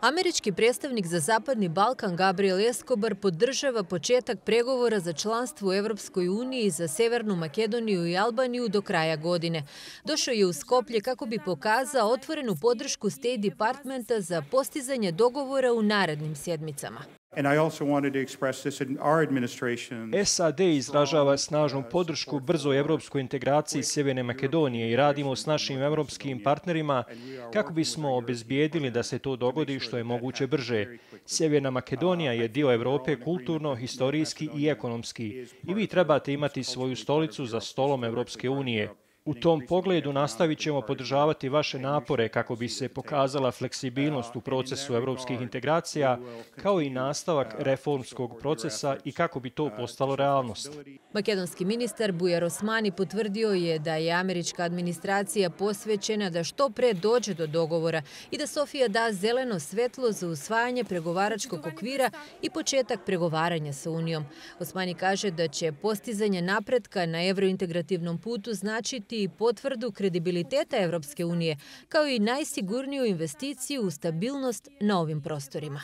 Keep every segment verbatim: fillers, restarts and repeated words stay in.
Američki predstavnik za Zapadni Balkan Gabriel Escobar podržava početak pregovora za članstvo u Evropskoj uniji za Severnu Makedoniju i Albaniju do kraja godine. Došao je u Skoplje kako bi pokazao otvorenu podršku State Departmenta za postizanje dogovora u narednim sedmicama. S A D izražava snažnu podršku brzoj evropskoj integraciji Sjeverne Makedonije i radimo s našim evropskim partnerima kako bismo obezbijedili da se to dogodi što je moguće brže. Sjeverna Makedonija je dio Evrope kulturno, historijski i ekonomski i vi trebate imati svoju stolicu za stolom Evropske unije. U tom pogledu nastavit ćemo podržavati vaše napore kako bi se pokazala fleksibilnost u procesu evropskih integracija, kao i nastavak reformskog procesa i kako bi to postalo realnost. Makedonski ministar Bujar Osmani potvrdio je da je američka administracija posvećena da što pre dođe do dogovora i da Sofija da zeleno svetlo za usvajanje pregovaračkog okvira i početak pregovaranja sa Unijom. Osmani kaže da će postizanje napretka na evrointegrativnom putu značiti i potvrdu kredibiliteta Evropske unije, kao i najsigurniju investiciju u stabilnost na ovim prostorima.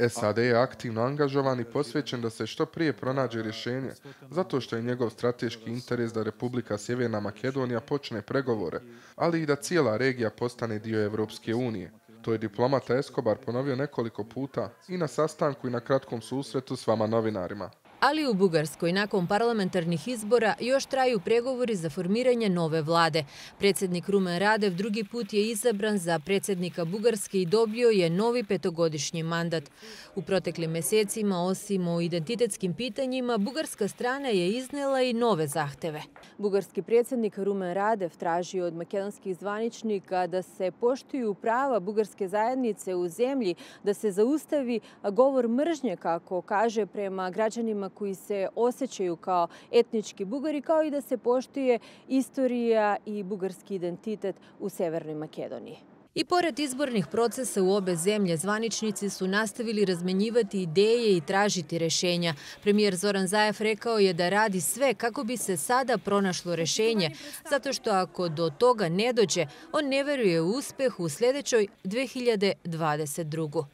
S A D je aktivno angažovan i posvećen da se što prije pronađe rješenje, zato što je njegov strateški interes da Republika Sjeverna Makedonija počne pregovore, ali i da cijela regija postane dio Evropske unije. To je diplomata Escobar ponovio nekoliko puta i na sastanku i na kratkom susretu s vama novinarima. Ali u Bugarskoj nakon parlamentarnih izbora još traju pregovori za formiranje nove vlade. Predsjednik Rumen Radev drugi put je izabran za predsjednika Bugarske i dobio je novi petogodišnji mandat. U proteklim mjesecima, osim o identitetskim pitanjima, bugarska strana je iznela i nove zahteve. Bugarski predsjednik Rumen Radev traži od makedonskih zvaničnika da se poštuju prava bugarske zajednice u zemlji, da se zaustavi govor mržnje, kako kaže, prema građanima koji se osjećaju kao etnički Bugari, kao i da se poštuje istorija i bugarski identitet u Severnoj Makedoniji. I pored izbornih procesa u obe zemlje, zvaničnici su nastavili razmenjivati ideje i tražiti rješenja. Premijer Zoran Zaev rekao je da radi sve kako bi se sada pronašlo rješenje, zato što ako do toga ne dođe, on ne veruje u uspjeh u sljedećoj dve hiljade dvadeset drugoj.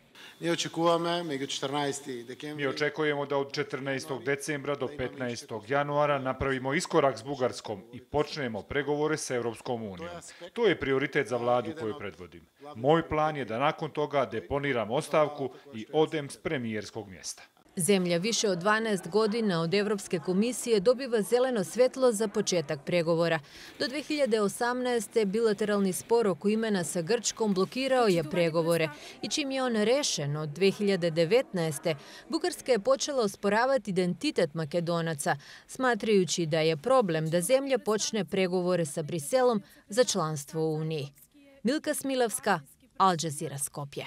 Mi očekujemo da od četrnaestog decembra do petnaestog januara napravimo iskorak s Bugarskom i počnemo pregovore s Evropskom unijom. To je prioritet za vladu koju predvodim. Moj plan je da nakon toga deponiram ostavku i odem s premijerskog mjesta. Zemlja više od dvanaest godina od Evropske komisije dobiva zeleno svjetlo za početak pregovora. Do dve hiljade osamnaeste. bilateralni spor oko imena sa Grčkom blokirao je pregovore i čim je on rešen od dve hiljade devetnaeste. Bugarska je počela osporavati identitet Makedonaca, smatrajući da je problem da zemlja počne pregovore sa Briselom za članstvo u Uniji. Milka Smilavska, Al Jazeera, Skopje.